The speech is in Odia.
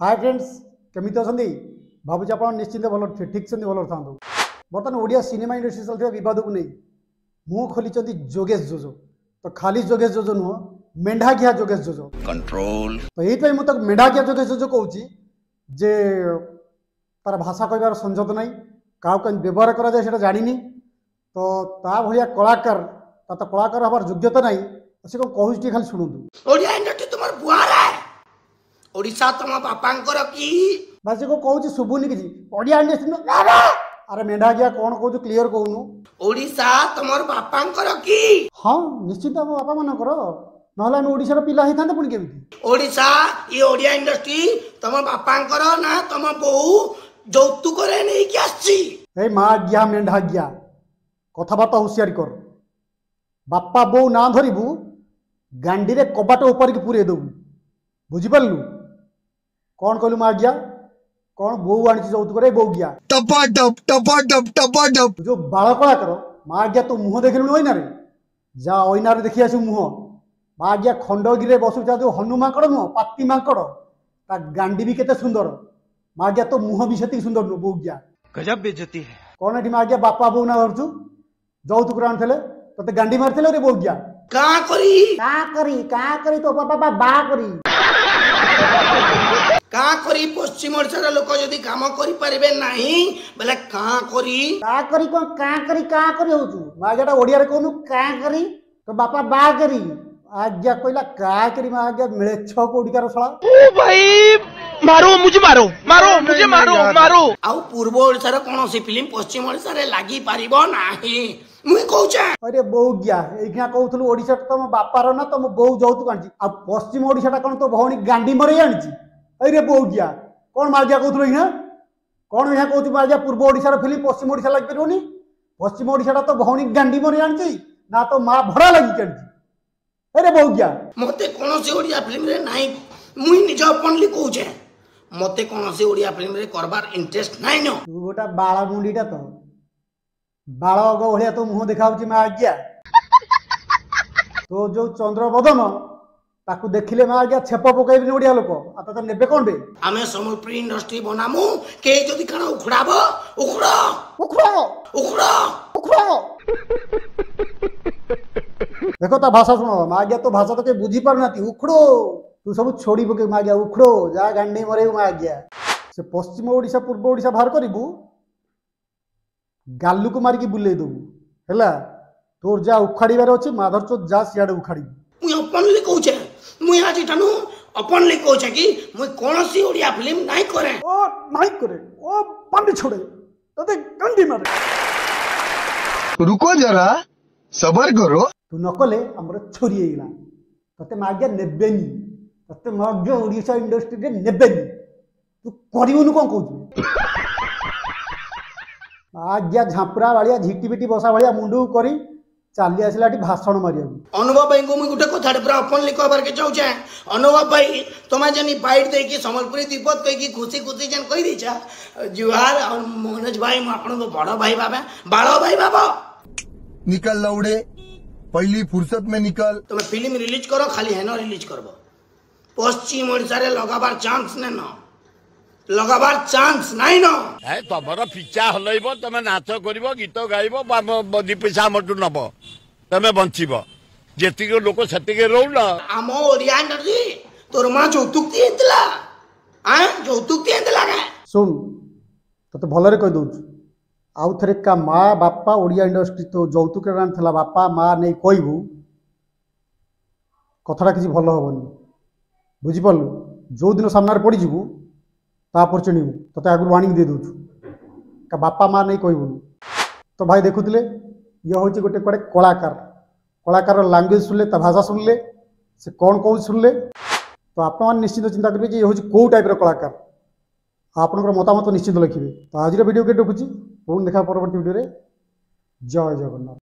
ହାଏ ଫ୍ରେଣ୍ଡସ୍, କେମିତି ଅଛନ୍ତି? ଭାବୁଛି ଆପଣ ନିଶ୍ଚିନ୍ତ ଭଲ ଠିକ୍ ସେମିତି ଭଲରେ ଥାନ୍ତୁ। ବର୍ତ୍ତମାନ ଓଡ଼ିଆ ସିନେମା ଇଣ୍ଡଷ୍ଟ୍ରି ଚାଲିଥିବା ବିବାଦକୁ ନେଇ ମୁହଁ ଖୋଲିଛନ୍ତି ଯୋଗେଶ ଯୋଜୋ। ତ ଖାଲି ଯୋଗେଶ ଯୋଜୋ ନୁହଁ, ମେଣ୍ଢା ଘିଆ ଯୋଗେଶ ଯୋଜୋ। କଣ୍ଟ୍ରୋଲ। ତ ଏଇଥିପାଇଁ ମୁଁ ତାକୁ ମେଣ୍ଢା ଘିଆ ଯୋଗେଶ ଯୋଜୋ କହୁଛି ଯେ ତାର ଭାଷା କହିବାର ସଂଯତ ନାହିଁ, କାହାକୁ କେମିତି ବ୍ୟବହାର କରାଯାଏ ସେଇଟା ଜାଣିନି। ତ ତା ଭଳିଆ କଳାକାର, ତା ତ କଳାକାର ହେବାର ଯୋଗ୍ୟତା ନାହିଁ। ସେ କ'ଣ କହୁଛି ଟିକେ ଖାଲି ଶୁଣନ୍ତୁ। ଓଡ଼ିଆ ଇଣ୍ଡଷ୍ଟ୍ରି ତୁମର ବୁଆରେ, ଓଡ଼ିଶା ତମ ବାପାଙ୍କର କି? ଭାଇ, ସେ କ'ଣ କହୁଛି ଶୁଭୁନି କିଛି। ଓଡ଼ିଆ ଇଣ୍ଡଷ୍ଟ୍ରି, ଆରେ ମେଣ୍ଢା ଘିଆ, କ'ଣ କହୁଛୁ କ୍ଲିୟର କହୁନୁ। ଓଡ଼ିଶା ତମର ବାପାଙ୍କର କି? ହଁ, ନିଶ୍ଚିନ୍ତ ଆମ ବାପା ମାନଙ୍କର, ନହେଲେ ଆମେ ଓଡ଼ିଶାର ପିଲା ହେଇଥାନ୍ତେ ପୁଣି କେମିତି? ଓଡ଼ିଶା, ଇଏ ଓଡ଼ିଆ ଇଣ୍ଡଷ୍ଟ୍ରି ତମ ବାପାଙ୍କର ନା ତମ ବୋଉ ଯୌତୁକରେ ନେଇକି ଆସିଛି? ଏଇ ମା ଗିହା ମେଣ୍ଢା ଗିହା, କଥାବାର୍ତ୍ତା ହୁସିଆରି କର। ବାପା ବୋଉ ନାଁ ଧରିବୁ, ଗାଣ୍ଡିରେ କବାଟ ଉପାରିକି ପୁରେଇ ଦେବୁ, ବୁଝିପାରିଲୁ? କ'ଣ କହିଲୁ ମା ଗିହା? କ'ଣ ବୋଉ ଆଣିଛି ଯୌତୁକରେ? ବୋଉ ଗିହା, ଟପାଟପ ଟପାଟପ ଟପାଟପ। ଯୋଉ ବାଳ କଳାକାର, ମା ଗିହା, ତୋ ମୁହଁ ଦେଖିଲୁଣି ଅଇନାରେ? ଯା ଅଇନାରେ ଦେଖି ଆସିବୁ ମୁହଁ। ମା ଗିହା, ଖଣ୍ଡଗିରିରେ ବସୁଥିବା ଯୋଉ ହନୁ ମାଙ୍କଡ଼ ନୁହଁ, ପାତି ମାଙ୍କଡ଼, ତା ଗାଣ୍ଡି ବି କେତେ ସୁନ୍ଦର। ମା ଗିହା, ତୋ ମୁହଁ ବି ସେତିକି ସୁନ୍ଦର ନୁହଁ। ବୋଉ ଗିହା, ଗଜବ ବେଜତି ହେ। କ'ଣ ଏଠି ମା ଗିହା ବାପା ବୋଉ ନା ଧରୁଛୁ? ଯୌତୁକରେ ଆଣିଥିଲେ ତତେ ଗାଣ୍ଡି ମାରିଥିଲେ ରେ ବୋଉ ଗିହା? କାଁ କରି କାଁ କରି, କାଁ କରି ତୋ ବାପା ବା କରି। କାଁ କରି ପଶ୍ଚିମ ଓଡ଼ିଶାର ଲୋକ ଯଦି କାମ କରିପାରିବେ ନାହିଁ ବେଲେ କାଁ କରି? କାଁ କରି କ'ଣ କାଁ କରି କାଁ କରି ହଉଛୁ ମା ଆଜ୍ଞା? ଓଡ଼ିଆରେ କହୁନୁ। କାଁ କରି ତୋ ବାପା ବା କରି। ଆଜ୍ଞା କହିଲା କାଁ କରି। ମା ଆଜ୍ଞା, ମିଳେଛ କୋଉଠିକାର ଶଳା। ଓ ଭାଇ, ମାରୋ ମୁଝେ, ମାରୋ ମାରୋ ମୁଝେ, ମାରୋ ମାରୋ। ଆଉ ପୂର୍ବ ଓଡ଼ିଶାର କୌଣସି ଫିଲ୍ମ ପଶ୍ଚିମ ଓଡ଼ିଶାରେ ଲାଗିପାରିବ ନାହିଁ, ମୁଇଁ କହୁଛେ। ଆରେ ବୋଉ ଗିଆ, ଏଇଖିଣା କହୁଥିଲୁ ଓଡ଼ିଶା ତମ ବାପାର ନା ତମ ବୋଉ ଯୌତୁକ ଆଣିଛି, ଆଉ ପଶ୍ଚିମ ଓଡ଼ିଶାଟା କ'ଣ ତୋ ଭଉଣୀ ଗାଣ୍ଡି ମରେଇ ଆଣିଛି? ଏଇରେ ବୋଉ ଗିଆ, କ'ଣ ମାଗିଆ କହୁଥିଲୁ ଏଇଖିଣା? କ'ଣ ଏହା କହୁଛୁ ମାଗିଆ? ପୂର୍ବ ଓଡ଼ିଶାର ଫିଲ୍ମ ପଶ୍ଚିମ ଓଡ଼ିଶା ଲାଗିପାରିବନି? ପଶ୍ଚିମ ଓଡ଼ିଶାଟା ତ ଭଉଣୀ ଗାଣ୍ଡି ମରେଇ ଆଣିଛି ନା ତୋ ମା ଭଡ଼ା ଲାଗିକି ଆଣିଛି? ଏରେ ବୋଉ ଗିଆ, ମତେ କୌଣସି ଓଡ଼ିଆ ଫିଲ୍ମରେ ନାହିଁ, ମୁଇଁ ନିଜ ଓପନଲି କହୁଛେ, ମତେ କୌଣସି ଓଡ଼ିଆ ଫିଲ୍ମରେ କରବାର ଇଣ୍ଟରେଷ୍ଟ ନାଇଁ ନ। ତୁ ଗୋଟା ବାଳ ମୁଣ୍ଡିଟା, ତ ବାଳ ଅଗ ଭଳିଆ ତୋ ମୁହଁ ଦେଖାଯାଉଛି। ମା ଆଜ୍ଞା, ତୋ ଯୋଉ ଚନ୍ଦ୍ରବଦନ, ତାକୁ ଦେଖିଲେ ମା ଆଜ୍ଞା ଛେପ ପକେଇବିନି ଓଡ଼ିଆ ଲୋକ, ଆଉ ତତେ ନେବେ କ'ଣ ବେ? ଆମେ ସମ୍ବଲପୁରୀ ଇଣ୍ଡଷ୍ଟ୍ରି ବନାମୁ। କେହି ଯଦି କାଣା ଉଖୁଡାବ, ଉଖୁଡ। ଉଖୁଡ। ଉଖୁଡ। ଉଖୁଡ। ଦେଖ, ତା ଭାଷା ଶୁଣ। ମା ଆଜ୍ଞା, ତୋ ଭାଷା ତ କେହି ବୁଝିପାରୁନାହାନ୍ତି। ଉଖୁଡୋ, ତୁ ସବୁ ଛୋଡ଼ି ପକେଇବୁ। ମା ଆଜ୍ଞା, ଉଖୁଡୋ, ଯା ଗାଣ୍ଡି ମରେଇବୁ। ମା ଆଜ୍ଞା, ସେ ପଶ୍ଚିମ ଓଡ଼ିଶା ପୂର୍ବ ଓଡ଼ିଶା ବାହାର କରିବୁ, ଗାଲୁକୁ ମାରିକି ବୁଲେଇ ଦେବୁ। ହେଲା, ତୋର ଯାହା ଉଖାଡ଼ିବାର ଅଛି ମାଧରଚୋଦ, ଯା ସିଆଡ଼େ ଉଖାଡ଼ିବୁ। ମୁଇଁ ଓପନଲି କହୁଛେ, ମୁଇଁ ଆଜି ଠାନୁ ଓପନଲି କହୁଛେ କି ମୁଇଁ କୌଣସି ଓଡ଼ିଆ ଫିଲ୍ମ ନାଇଁ କରେ। ଓ ନାଇଁ କରେ, ଓ ପାଣ୍ଡି ଛୋଡ଼େ, ତତେ ଗାଣ୍ଡି ମାରେ। ରୁକୋ ଜରା, ସବର କରୋ। ତୁ ନ କଲେ ଆମର ଛୋରି ହେଇଗଲା, ତତେ ମାଗିଆ ନେବେନି, ତତେ ମାଗିଆ ଓଡ଼ିଶା ଇଣ୍ଡଷ୍ଟ୍ରିରେ ନେବେନି। ତୁ କରିବୁନୁ କ'ଣ କହୁଛୁ? ଆଜ୍ଞା, ଝାମ୍ପୁରା ଭଳିଆ ଝିଟିପିଟି ବସା ଭଳିଆ ମୁଣ୍ଡକୁ କରି ଚାଲି ଆସିଲା ଏଠି ଭାଷଣ ମାରିବାକୁ। ଅନୁଭବ ଭାଇଙ୍କୁ ମୁଇଁ ଗୋଟେ କଥାଟେ ପୁରା ଓପନଲି କହିବାରକେ ଚାହୁଁଛେ। ଅନୁଭବ ଭାଇ, ତମେ ଯେନ୍ ବାଇଟ୍ ଦେଇକି ସମ୍ବଲପୁରୀ ଦିପଦ କହିକି ଖୁସି ଖୁସି ଯେନ୍ କହିଦେଇଛ, ଜୁହାର। ଆଉ ମନୋଜ ଭାଇ, ମୁଁ ଆପଣଙ୍କୁ ବଡ଼ ଭାଇ ଭାବେ, ବାଳ ଭାଇ ଭାବ। ନିକଲ ଲଉଡେ, ପହଲି ଫୁର୍ସତ ମେ ନିକଲ। ତମେ ଫିଲ୍ମ ରିଲିଜ କର, ଖାଲି ହେନ ରିଲିଜ କରବ, ପଶ୍ଚିମ ଓଡ଼ିଶାରେ ଲଗାବାର ଚାନ୍ସ ନେନ, ଲଗାବାର ଚାନ୍ସ ନାଇଁ ନ। ତମର ପିଚା ହଲେଇବ, ତମେ ନାଚ କରିବ, ଗୀତ ଗାଇବ, ଦି ପଇସା ଆମଠୁ ନବ, ତମେ ବଞ୍ଚିବ। ଯେତିକି ଲୋକ ସେତିକି ରହୁନ। ଆମ ଓଡ଼ିଆ ଇଣ୍ଡଷ୍ଟ୍ରି ତୋର ମା ଯୌତୁକ ହେଇଥିଲା? ଆଁ, ଯୌତୁକ ହେଇଥିଲା କେ? ଶୁଣ, ତତେ ଭଲରେ କହିଦେଉଛୁ, ଆଉ ଥରେ କା ମା ବାପା ଓଡ଼ିଆ ଇଣ୍ଡଷ୍ଟ୍ରି ତୋ ଯୌତୁକରେ ଆଣିଥିଲା ବାପା ମା ନେଇ କହିବୁ, କଥାଟା କିଛି ଭଲ ହେବନି, ବୁଝିପାରିଲୁ? ଯେଉଁଦିନ ସାମ୍ନାରେ ପଡ଼ିଯିବୁ ତାପରେ ଚିହ୍ନିବୁ। ତତେ ଆଗରୁ ୱାର୍ଣ୍ଣିଂ ଦେଇ ଦେଉଛୁ, କା ବାପା ମା ନେଇ କହିବୁନି। ତ ଭାଇ, ଦେଖୁଥିଲେ, ଇଏ ହେଉଛି ଗୋଟେ କୁଆଡ଼େ କଳାକାର। କଳାକାରର ଲାଙ୍ଗୁଏଜ ଶୁଣିଲେ, ତା ଭାଷା ଶୁଣିଲେ, ସେ କ'ଣ କହୁଛି ଶୁଣିଲେ, ତ ଆପଣମାନେ ନିଶ୍ଚିନ୍ତ ଚିନ୍ତା କରିବେ ଯେ ଇଏ ହେଉଛି କେଉଁ ଟାଇପ୍ର କଳାକାର, ଆଉ ଆପଣଙ୍କର ମତାମତ ନିଶ୍ଚିନ୍ତ ଲେଖିବେ। ତ ଆଜିର ଭିଡ଼ିଓ କେତେ ରଖୁଛି, ପୁଣି ଦେଖା ପରବର୍ତ୍ତୀ ଭିଡ଼ିଓରେ। ଜୟ ଜଗନ୍ନାଥ।